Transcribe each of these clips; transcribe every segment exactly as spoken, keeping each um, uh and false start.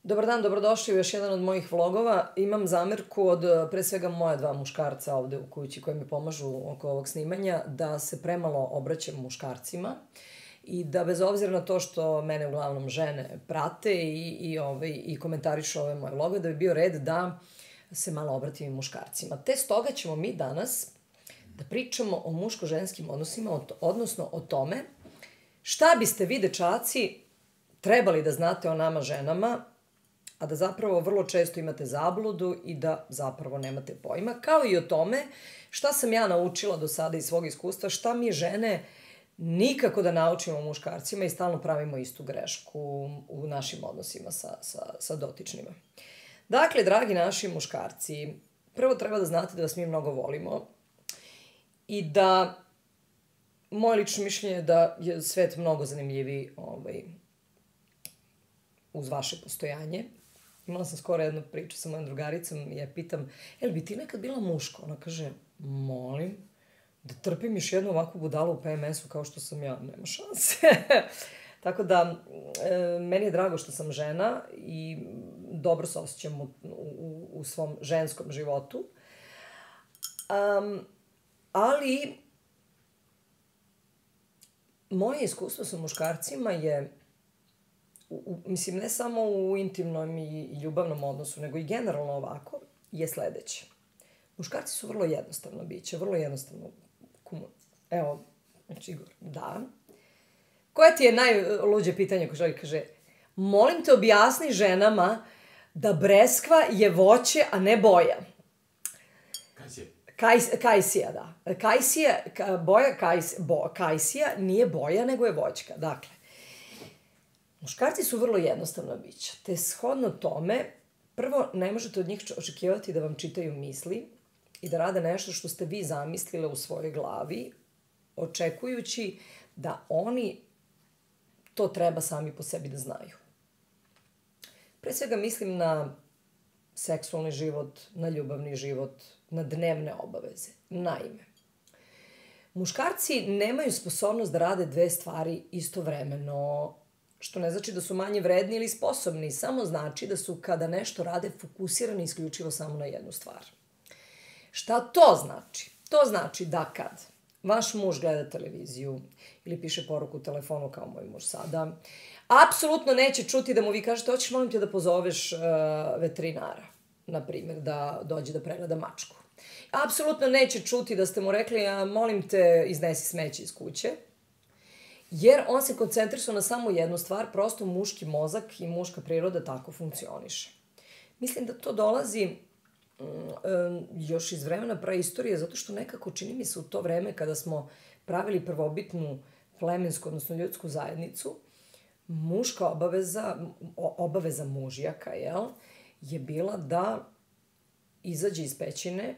Dobar dan, dobrodošli u još jedan od mojih vlogova. Imam zamerku od pre svega moja dva muškarca ovde u kući koji mi pomažu oko ovog snimanja da se premalo obraćam muškarcima i da bez obzira na to što mene uglavnom žene prate i, i, ovaj, i komentarišu ove moje vlogove, da bi bio red da se malo obratim i muškarcima. Te stoga ćemo mi danas da pričamo o muško-ženskim odnosima, odnosno o tome šta biste vi, dečaci, trebali da znate o nama ženama, a da zapravo vrlo često imate zabludu i da zapravo nemate pojma, kao i o tome šta sam ja naučila do sada iz svog iskustva, šta mi žene nikako da naučimo muškarcima i stalno pravimo istu grešku u našim odnosima sa, sa, sa dotičnima. Dakle, dragi naši muškarci, prvo treba da znate da vas mi mnogo volimo i da moje lično mišljenje je da je svet mnogo zanimljiviji ovaj, uz vaše postojanje. Imala sam skoro jednu priču sa mojom drugaricom i ja pitam, jel bi ti nekad bila muško? Ona kaže, molim, da trpim još jednu ovakvu budalu u P M S-u kao što sam ja, nema šanse. Tako da, e, meni je drago što sam žena i dobro se osjećam u, u, u svom ženskom životu. Um, ali, moje iskustvo sa muškarcima je, U, u, mislim, ne samo u intimnom i, i ljubavnom odnosu, nego i generalno ovako, je sledeće. Muškarci su vrlo jednostavno biće, vrlo jednostavno kumu... Evo, znači, Igor, da. Koje ti je najluđe pitanje ko želi, kaže, molim te objasni ženama da breskva je voće, a ne boja. Kajsija. Kajs, kajsija, da. Kajsija, ka, boja kajs, bo, kajsija nije boja, nego je voćka. Dakle, muškarci su vrlo jednostavna bića, te shodno tome, prvo, ne možete od njih očekivati da vam čitaju misli i da rade nešto što ste vi zamislile u svojoj glavi, očekujući da oni to treba sami po sebi da znaju. Pre svega mislim na seksualni život, na ljubavni život, na dnevne obaveze. Naime, muškarci nemaju sposobnost da rade dve stvari istovremeno, što ne znači da su manje vredni ili sposobni, samo znači da su kada nešto rade fokusirani isključivo samo na jednu stvar. Šta to znači? To znači da kad vaš muž gleda televiziju ili piše poruku u telefonu kao moj muž sada, apsolutno neće čuti da mu vi kažete, hoćeš molim te da pozoveš uh, veterinara, na primjer, da dođe da pregleda mačku. Apsolutno neće čuti da ste mu rekli, a molim te iznesi smeće iz kuće, jer on se koncentrisuo na samo jednu stvar, prosto muški mozak i muška priroda tako funkcioniše. Mislim da to dolazi um, još iz vremena praistorije, zato što nekako čini mi se u to vreme kada smo pravili prvobitnu plemensku, odnosno ljudsku zajednicu, muška obaveza, obaveza mužjaka, jel, je bila da izađe iz pećine,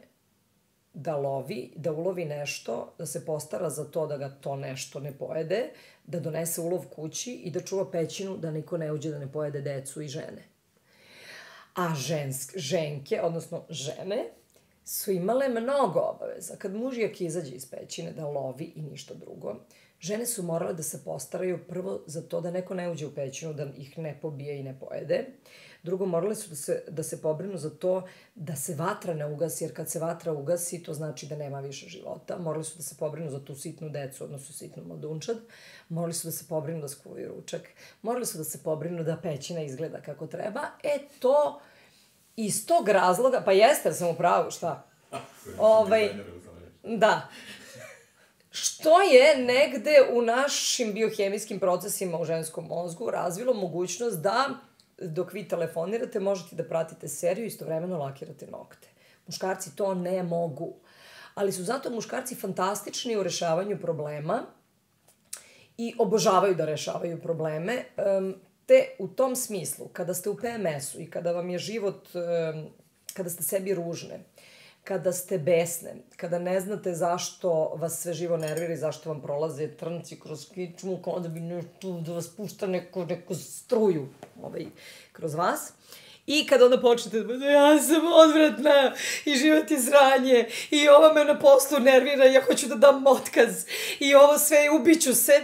da lovi, da ulovi nešto, da se postara za to da ga to nešto ne pojede, da donese ulov kući i da čuva pećinu da niko ne uđe da ne pojede decu i žene. A žensk, ženke, odnosno žene, su imale mnogo obaveza. Kad mužjak izađe iz pećine da lovi i ništa drugo, žene su morale da se postaraju prvo za to da neko ne uđe u pećinu, da ih ne pobije i ne pojede. Drugo, morale su da se, da se pobrinu za to da se vatra ne ugasi, jer kad se vatra ugasi, to znači da nema više života. Morali su da se pobrinu za tu sitnu decu, odnosno sitnu mladunčad. Morali su da se pobrinu da skuvaju ručak. Morali su da se pobrinu da pećina izgleda kako treba. E, to iz tog razloga, pa jeste, sam u pravu, šta? ovaj, da. Što je negde u našim biohemijskim procesima u ženskom mozgu razvilo mogućnost da dok vi telefonirate, možete da pratite seriju i istovremeno lakirate nokte. Muškarci to ne mogu. Ali su zato muškarci fantastični u rešavanju problema i obožavaju da rešavaju probleme. Te u tom smislu, kada ste u P M S-u i kada vam je život, kada ste sebi ružne, kada ste besne, kada ne znate zašto vas sve živo nervira i zašto vam prolaze trnci kroz kičmu, kao da bi nešto da vas pušta neko, neku struju ovaj, kroz vas. I kada onda počnete da ja sam odvratna i život je sranje i ova me na poslu nervira, ja hoću da dam otkaz i ovo sve, ubiću se.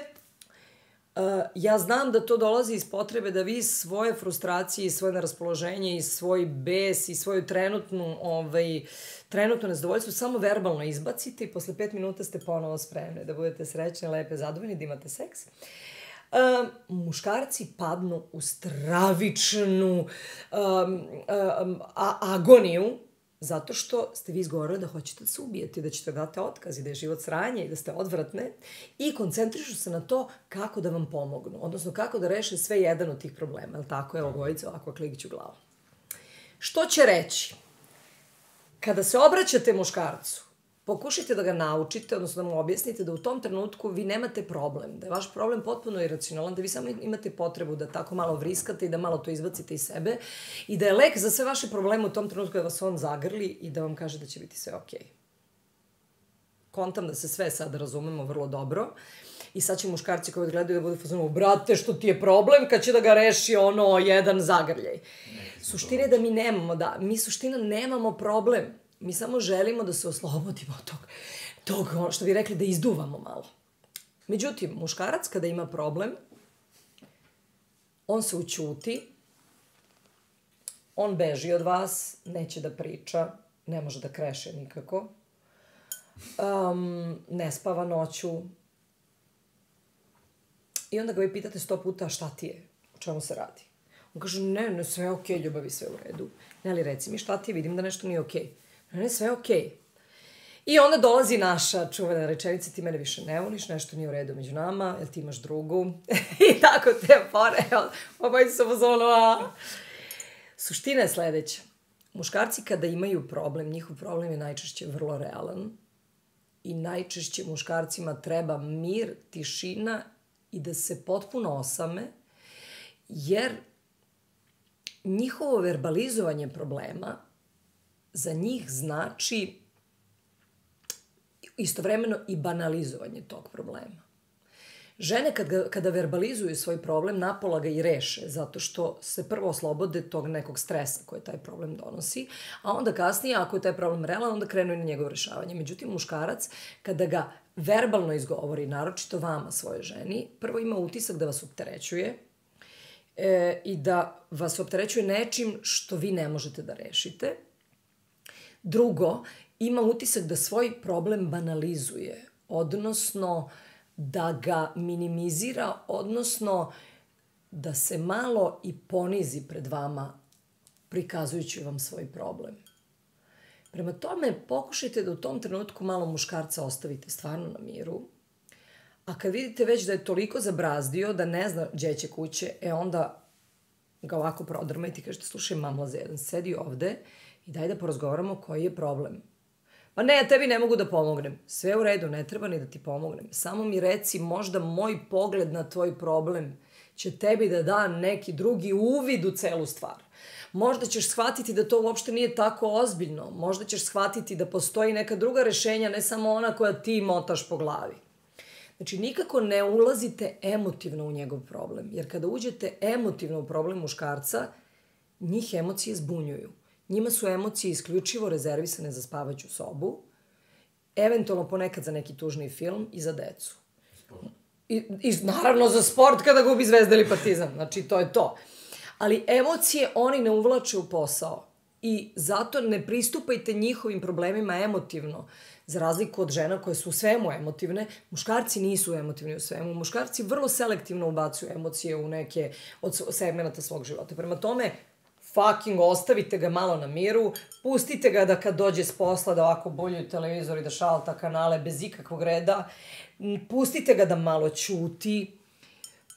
ja znam da to dolazi iz potrebe da vi svoje frustracije i svoje neraspoloženje i svoj bes i svoju trenutnu, ovaj, trenutno nezadovoljstvo samo verbalno izbacite i posle pet minuta ste ponovo spremni da budete srećni, lepe, zadovoljni, da imate seks. Um, muškarci padnu u stravičnu um, um, a, agoniju zato što ste vi izgovorili da hoćete da se ubijete, da ćete dati otkaz i da je život sranje i da ste odvratne i koncentrišu se na to kako da vam pomognu, odnosno kako da reše sve jedan od tih problema. Jel tako? Evo, Gojica, ovako klikiću glavu. Što će reći? Kada se obraćate muškarcu, pokušajte da ga naučite, odnosno da mu objasnite da u tom trenutku vi nemate problem, da je vaš problem potpuno iracionalan, da vi samo imate potrebu da tako malo vriskate i da malo to izbacite iz sebe i da je lek za sve vaše probleme u tom trenutku da vas on zagrli i da vam kaže da će biti sve okej. Kontam da se sve sad razumemo vrlo dobro i sad će muškarci koji odgledaju da budu fazonu, brate, što ti je problem kad će da ga reši ono jedan zagrljaj. Suština je da mi nemamo, da, mi suština nemamo problem. Mi samo želimo da se oslobodimo od tog, tog, što bi rekli, da izduvamo malo. Međutim, muškarac kada ima problem, on se ućuti, on beži od vas, neće da priča, ne može da kreše nikako, um, ne spava noću. I onda ga vi pitate sto puta šta ti je, o čemu se radi. On kaže, ne, ne, sve je okej, ljubavi, sve u redu. Ne, li reci mi šta ti je, vidim da nešto nije okej. Ne, sve je okej. I onda dolazi naša čuvena rečenica, ti mene više ne voliš, nešto nije u redu među nama, jel ti imaš drugu? I tako te pore, obaj su pozvano, a... Suština je sledeća. Muškarci kada imaju problem, njihov problem je najčešće vrlo realan i najčešće muškarcima treba mir, tišina i da se potpuno osame, jer njihovo verbalizovanje problema za njih znači istovremeno i banalizovanje tog problema. Žene kad ga, kada verbalizuju svoj problem, napola ga i reše, zato što se prvo oslobode tog nekog stresa koje taj problem donosi, a onda kasnije, ako je taj problem realan, onda krenu i na njegovo rešavanje. Međutim, muškarac, kada ga verbalno izgovori, naročito vama, svoje ženi, prvo ima utisak da vas opterećuje e, i da vas opterećuje nečim što vi ne možete da rešite. Drugo, ima utisak da svoj problem banalizuje, odnosno da ga minimizira, odnosno da se malo i ponizi pred vama prikazujući vam svoj problem. Prema tome, pokušajte da u tom trenutku malo muškarca ostavite stvarno na miru, a kad vidite već da je toliko zabrazdio da ne zna gdje će kuće, e onda ga ovako prodrmajte i kažete, slušaj, mamlaze, jedan sedi ovde i daj da porazgovaramo koji je problem. Pa ne, tebi ne mogu da pomognem. Sve u redu, ne treba ni da ti pomognem. Samo mi reci, možda moj pogled na tvoj problem će tebi da da neki drugi uvid u celu stvar. Možda ćeš shvatiti da to uopšte nije tako ozbiljno. Možda ćeš shvatiti da postoji neka druga rešenja, ne samo ona koja ti motaš po glavi. Znači, nikako ne ulazite emotivno u njegov problem. Jer kada uđete emotivno u problem muškarca, njih emocije zbunjuju. Njima su emocije isključivo rezervisane za spavaću sobu, eventualno ponekad za neki tužni film i za decu. I, i naravno za sport kada gubi Zvezda ili Partizan. Znači, to je to. Ali emocije oni ne uvlače u posao. I zato ne pristupajte njihovim problemima emotivno. Za razliku od žena koje su u svemu emotivne, muškarci nisu emotivni u svemu. Muškarci vrlo selektivno ubacuju emocije u neke od segmenata svog života. Prema tome, fucking ostavite ga malo na miru, pustite ga da kad dođe s posla da ovako boljuju televizor i da šalta kanale bez ikakvog reda, pustite ga da malo ćuti,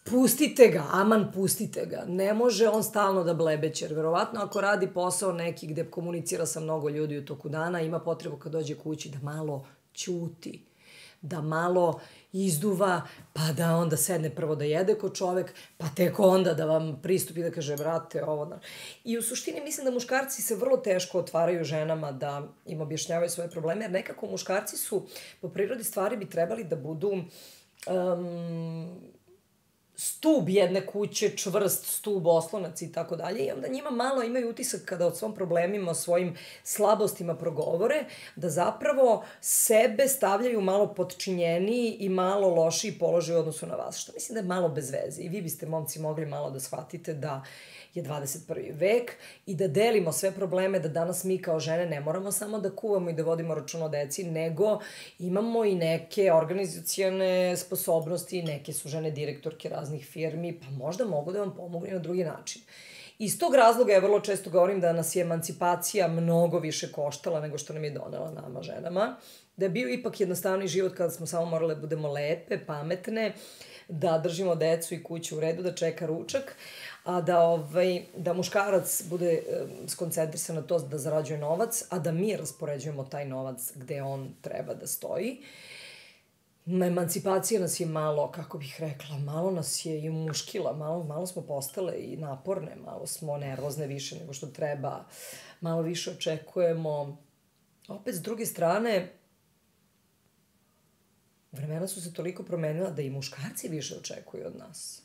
pustite ga, aman pustite ga. Ne može on stalno da blebeće, jer verovatno ako radi posao neki gde komunicira sa mnogo ljudi u toku dana, ima potrebu kad dođe kući da malo ćuti, da malo izduva, pa da onda sedne prvo da jede ko čovek, pa tek onda da vam pristupi da kaže, brate, ovo da... I u suštini mislim da muškarci se vrlo teško otvaraju ženama da im objašnjavaju svoje probleme, jer nekako muškarci su, po prirodi stvari bi trebali da budu um, stub jedne kuće, čvrst stub, oslonac i tako dalje. I onda njima malo imaju utisak kada o svom problemima, o svojim slabostima progovore, da zapravo sebe stavljaju malo podčinjeniji i malo lošiji položaj u odnosu na vas. Što mislim da je malo bez veze. I vi biste, momci, mogli malo da shvatite da je dvadeset prvi vek i da delimo sve probleme, da danas mi kao žene ne moramo samo da kuvamo i da vodimo račun o deci, nego imamo i neke organizacione sposobnosti, neke su žene direktorke raznih firmi, pa možda mogu da vam pomogu i na drugi način. Iz tog razloga ja vrlo često govorim da nas je emancipacija mnogo više koštala nego što nam je donela nama ženama, da je bio ipak jednostavni život kada smo samo morale da budemo lepe, pametne, da držimo decu i kuću u redu, da čeka ručak, a da, ovaj, da muškarac bude e, skoncentrisan na to da zarađuje novac, a da mi raspoređujemo taj novac gde on treba da stoji. Emancipacija nas je malo, kako bih rekla, malo nas je i muškila, malo, malo smo postale i naporne, malo smo nervozne više nego što treba, malo više očekujemo. Opet, s druge strane, vremena su se toliko promenila da i muškarci više očekuju od nas.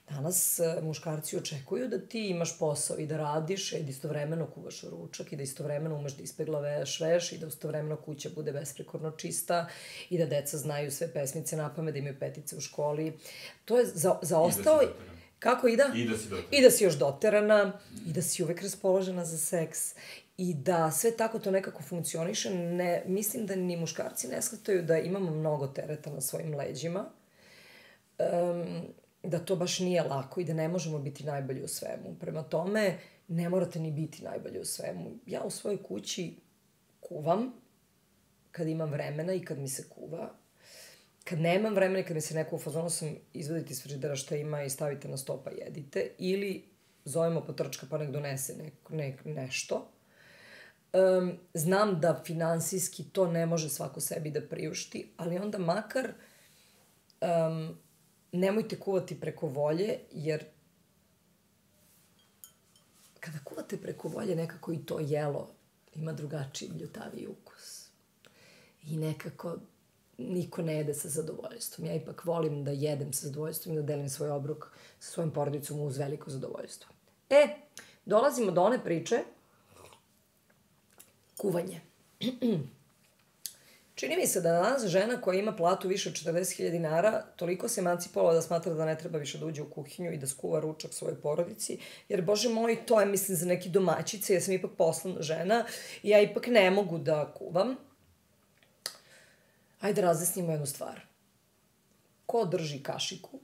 Danas muškarci očekuju da ti imaš posao i da radiš, i da istovremeno kuvaš ručak, i da istovremeno umeš da ispeglaveš veš, i da istovremeno kuća bude besprekorno čista, i da deca znaju sve pesmice napamet, da imaju petice u školi. To je za, zaostao... I da si doterana. Kako, i da? I da si doterana. I da si još doterana, i da si uvek raspoložena za seks, i da sve tako to nekako funkcioniše. Ne, mislim da ni muškarci ne shvataju da imamo mnogo tereta na svojim leđima, um, da to baš nije lako i da ne možemo biti najbolji u svemu. Prema tome, ne morate ni biti najbolji u svemu. Ja u svojoj kući kuvam kad imam vremena i kad mi se kuva. Kad nemam vremena i kad mi se neko u fazonu sam izvadite iz frižidera šta ima i stavite na sto pa jedite. Ili zovemo potrčka pa nek donese neko, nek, nešto. Um, znam da finansijski to ne može svako sebi da priušti, ali onda makar um, nemojte kuvati preko volje, jer kada kuvate preko volje, nekako i to jelo ima drugačiji bljutaviji ukus. I nekako niko ne jede sa zadovoljstvom. Ja ipak volim da jedem sa zadovoljstvom i da delim svoj obrok sa svojim porodicom uz veliko zadovoljstvo. E, dolazimo do one priče kuvanje. Čini mi se da danas žena koja ima platu više od četrdeset hiljada dinara toliko se emancipovala da smatra da ne treba više da uđe u kuhinju i da skuva ručak svojoj porodici, jer, bože moj, to je, mislim, za neke domaćice, ja sam ipak poslovna žena i ja ipak ne mogu da kuvam. Ajde razjasnimo jednu stvar. Ko drži kašiku,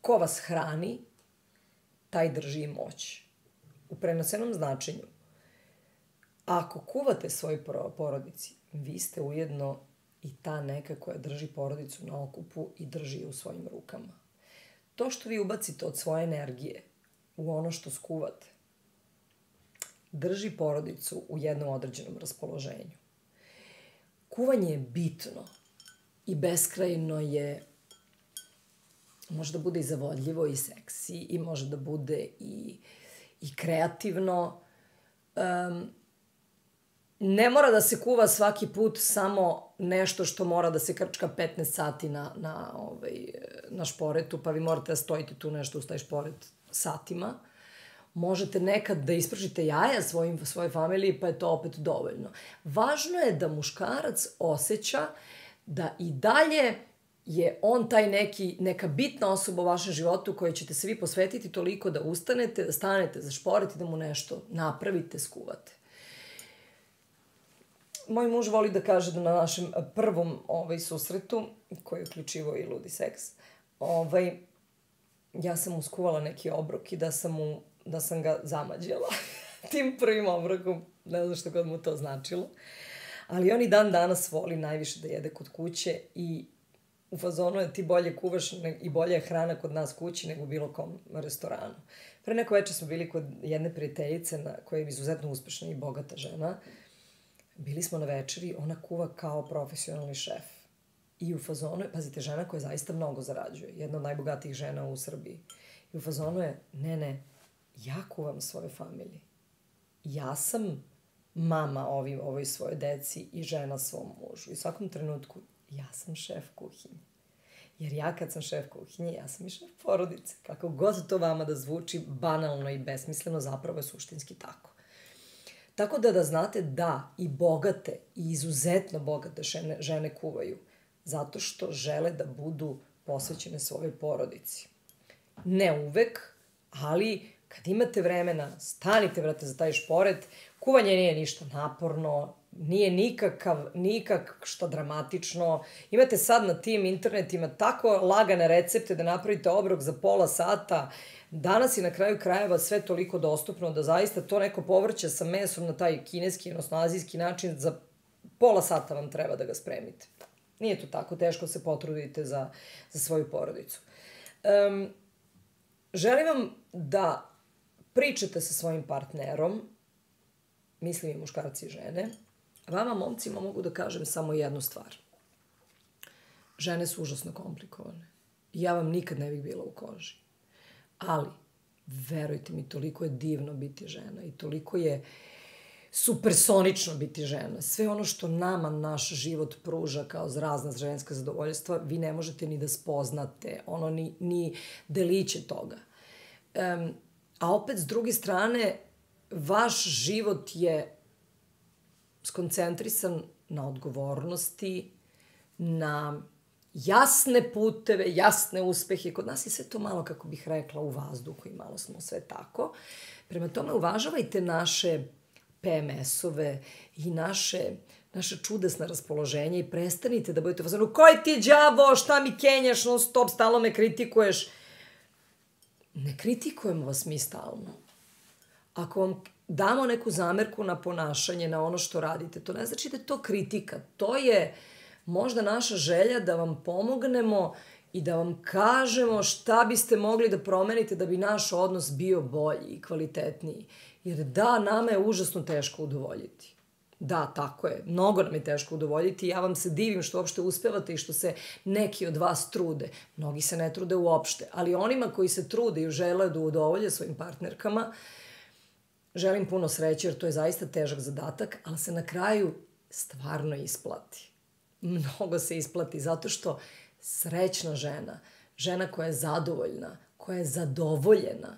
ko vas hrani, taj drži i moć. U prenosenom značenju. Ako kuvate svoj porodici, vi ste ujedno i ta neka koja drži porodicu na okupu i drži je u svojim rukama. To što vi ubacite od svoje energije u ono što skuvate, drži porodicu u jednom određenom raspoloženju. Kuvanje je bitno i beskrajno je, može da bude i zavodljivo i seksi i može da bude i, i kreativno. Um, Ne mora da se kuva svaki put samo nešto što mora da se krčka petnaest sati na, na, ovaj, na šporetu, pa vi morate da stojite tu nešto uz taj šporet satima. Možete nekad da ispržite jaja svojim, svojoj familiji, pa je to opet dovoljno. Važno je da muškarac osjeća da i dalje je on taj neki, neka bitna osoba u vašem životu kojoj ćete se vi posvetiti toliko da ustanete, da stanete za šporet i da mu nešto napravite, skuvate. Moj muž voli da kaže da na našem prvom ovaj, susretu, koji je uključivo i ludi seks, ovaj, ja sam mu skuvala neki obrok i da sam, mu, da sam ga zamađala tim prvim obrokom, ne znam što god mu to značilo. Ali on i dan danas voli najviše da jede kod kuće i u fazonu je ti bolje kuvaš i bolje je hrana kod nas kući nego u bilo kom restoranu. Pre neko večer smo bili kod jedne prijateljice na, koja je izuzetno uspešna i bogata žena. Bili smo na večeri, ona kuva kao profesionalni šef. I u fazonu je, pazite, žena koja zaista mnogo zarađuje, jedna od najbogatijih žena u Srbiji. I u fazonu je, ne, ne, ja kuvam svojoj familiji. Ja sam mama ovi, ovoj svojoj deci i žena svom mužu. I u svakom trenutku, ja sam šef kuhinje. Jer ja kad sam šef kuhinje, ja sam i šef porodice. Kako god to vama da zvuči banalno i besmisleno, zapravo je suštinski tako. Tako da da znate da i bogate i izuzetno bogate žene, žene kuvaju zato što žele da budu posvećene svojoj porodici. Ne uvek, ali kad imate vremena, stanite, vrate, za taj šporet. Kuvanje nije ništa naporno, nije nikakav, nikak što dramatično. Imate sad na tim internetima tako lagane recepte da napravite obrok za pola sata. Danas je na kraju krajeva sve toliko dostupno da zaista to neko povrće sa mesom na taj kineski, odnosno azijski način, za pola sata vam treba da ga spremite. Nije to tako teško, se potrudite za, za svoju porodicu. Um, želim vam da pričate sa svojim partnerom, mislim i muškarci i žene. Vama, momcima, mogu da kažem samo jednu stvar. Žene su užasno komplikovane. Ja vam nikad ne bih bila u koži. Ali, verujte mi, toliko je divno biti žena i toliko je supersonično biti žena. Sve ono što nama naš život pruža kao razna ženska zadovoljstva, vi ne možete ni da spoznate, ono, ni, ni deliće toga. Um, a opet, s druge strane, vaš život je skoncentrisan na odgovornosti, na jasne puteve, jasne uspehe. Kod nas je sve to malo, kako bih rekla, u vazduhu i malo smo sve tako. Prema tome, uvažavajte naše P M S-ove i naše, naše čudesna raspoloženja i prestanite da budete fazonu, koji ti đavo, šta mi kenjaš, non stop, stalno me kritikuješ. Ne kritikujemo vas mi stalno. Ako vam damo neku zamerku na ponašanje, na ono što radite, to ne znači da je to kritika. To je možda naša želja da vam pomognemo i da vam kažemo šta biste mogli da promenite da bi naš odnos bio bolji i kvalitetniji. Jer da, nama je užasno teško udovoljiti. Da, tako je. Mnogo nam je teško udovoljiti i ja vam se divim što uopšte uspevate i što se neki od vas trude. Mnogi se ne trude uopšte, ali onima koji se trude i žele da udovolje svojim partnerkama, želim puno sreće jer to je zaista težak zadatak, ali se na kraju stvarno isplati. Mnogo se isplati zato što srećna žena, žena koja je zadovoljna, koja je zadovoljena,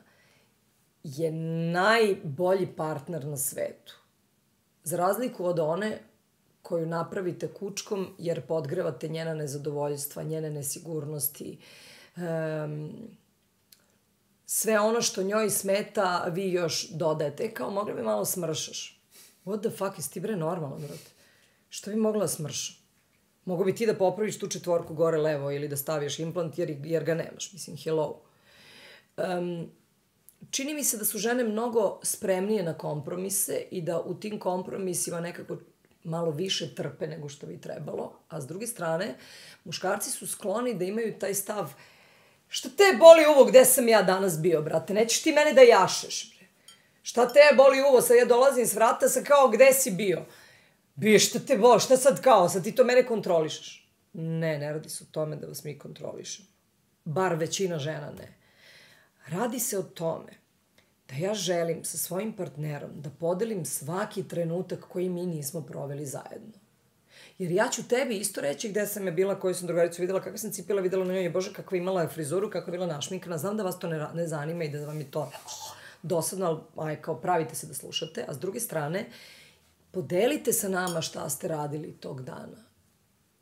je najbolji partner na svetu. Za razliku od one koju napravite kučkom jer podgrevate njena nezadovoljstva, njene nesigurnosti, um, sve ono što njoj smeta, vi još dodajete. E, kao, mogla bi malo smršaš. What the fuck, jesi ti bre normalno, brate? Što bi mogla smršam? Mogu bi ti da popraviš tu četvorku gore levo ili da staviš implant jer, jer ga nemaš. Mislim, hello. Um, čini mi se da su žene mnogo spremnije na kompromise i da u tim kompromisima nekako malo više trpe nego što bi trebalo. A s druge strane, muškarci su skloni da imaju taj stav šta te boli uvo gde sam ja danas bio, brate? Nećeš ti mene da jašeš, bre. Šta te boli uvo? Sad ja dolazim s vrata, sa kao gde si bio? Bio, šta te boli? Šta sad kao? Sad ti to mene kontrolišeš? Ne, ne radi se o tome da vas mi kontrolišemo. Bar većina žena ne. Radi se o tome da ja želim sa svojim partnerom da podelim svaki trenutak koji mi nismo proveli zajedno. Jer ja ću tebi isto reći gde sam je bila, koju sam drugaricu videla, kakve sam cipela videla na njoj, bože, kakva imala frizuru, kako je bila našminkana. Znam da vas to ne, ne zanima i da vam je to dosadno, ali aj, kao pravite se da slušate. A s druge strane, podelite sa nama šta ste radili tog dana.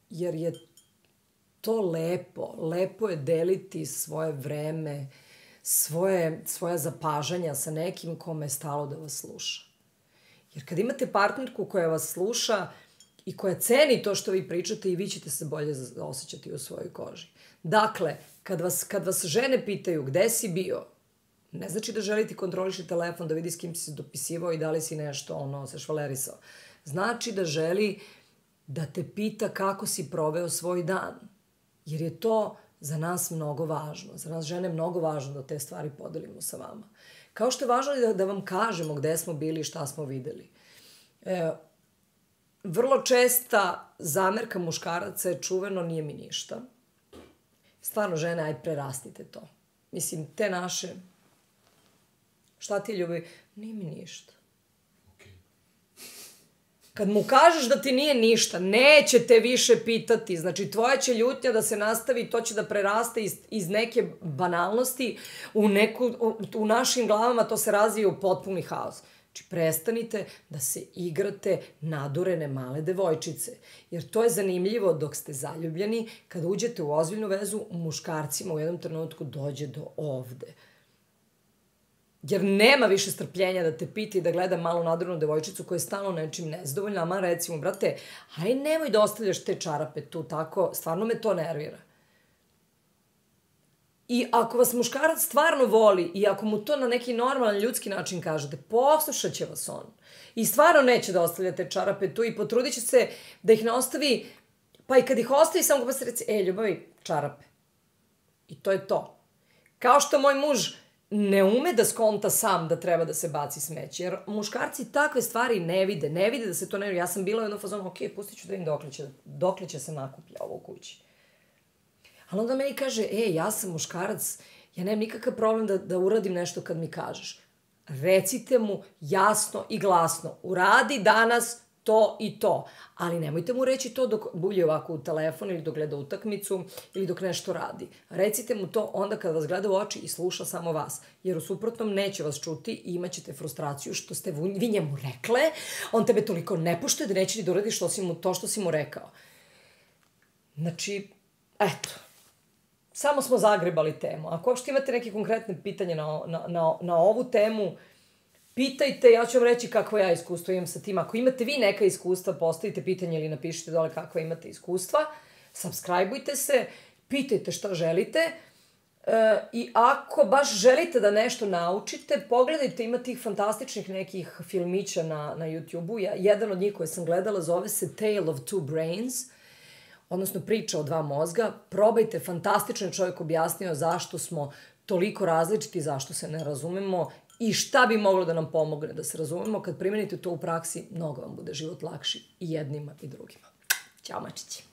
Jer je to lepo. Lepo je deliti svoje vreme, svoje, svoja zapažanja sa nekim kome je stalo da vas sluša. Jer kad imate partnerku koja vas sluša i koja ceni to što vi pričate, i vi ćete se bolje osjećati u svojoj koži. Dakle, kad vas, kad vas žene pitaju gde si bio, ne znači da želite kontroliši telefon, da vidi s kim si se dopisivao i da li si nešto, ono, se švalerisao. Znači da želi da te pita kako si proveo svoj dan. Jer je to za nas mnogo važno. Za nas žene je mnogo važno da te stvari podelimo sa vama. Kao što je važno da, da vam kažemo gde smo bili i šta smo videli. E, vrlo česta zamerka muškaraca je čuveno nije mi ništa. Stvarno, žene, aj prerastite to. Mislim, te naše, šta ti ljubi? Nije mi ništa. Okay. Kad mu kažeš da ti nije ništa, neće te više pitati. Znači, tvoja će ljutnja da se nastavi, to će da preraste iz, iz neke banalnosti u, neku, u, u našim glavama, to se razvije u potpuni haos. Znači, prestanite da se igrate nadurene male devojčice. Jer to je zanimljivo dok ste zaljubljeni, kada uđete u ozbiljnu vezu, u muškarcima u jednom trenutku dođe do ovde. Jer nema više strpljenja da te pita i da gleda malu nadurenu devojčicu koja je stalno nečim nezadovoljna, a man recimo, brate, aj nemoj da ostavljaš te čarape tu tako, stvarno me to nervira. I ako vas muškarac stvarno voli i ako mu to na neki normalan ljudski način kažete, poslušat će vas on. I stvarno neće da ostavljate čarape tu i potrudit će se da ih ne ostavi, pa i kad ih ostavi, samo pa se reci, e, ljubavi, čarape. I to je to. Kao što moj muž ne ume da skonta sam da treba da se baci smeće, jer muškarci takve stvari ne vide, ne vide da se to ne vidi. Ja sam bila u jednom fazonu, ok, pustit ću da vidim dokle će, dokle će se nakuplja ovo u kući. Ali onda meni kaže, e, ja sam muškarac, ja nemam nikakav problem da, da uradim nešto kad mi kažeš. Recite mu jasno i glasno, uradi danas to i to. Ali nemojte mu reći to dok bulje ovako u telefon ili dok gleda utakmicu ili dok nešto radi. Recite mu to onda kad vas gleda u oči i sluša samo vas. Jer u suprotnom neće vas čuti i imat ćete frustraciju što ste vi njemu rekle, on tebe toliko ne poštuje da neće ni da uradi što si mu, to što si mu rekao. Znači, eto. Samo smo zagrebali temu. Ako uopšte imate neke konkretne pitanje na, na, na, na ovu temu, pitajte, ja ću vam reći kakvo ja iskustvo imam sa tim. Ako imate vi neka iskustva, postavite pitanje ili napišite dole kakva imate iskustva. Subscribeujte se, pitajte šta želite. E, I ako baš želite da nešto naučite, pogledajte, ima tih fantastičnih nekih filmića na, na YouTube-u. Ja, jedan od njih koje sam gledala zove se Tale of Two Brains, odnosno priča o dva mozga. Probajte, fantastično je čovjek objasnio zašto smo toliko različiti, zašto se ne razumemo i šta bi moglo da nam pomogne da se razumemo. Kad primenite to u praksi, mnogo vam bude život lakši i jednima i drugima. Ćao, mačići.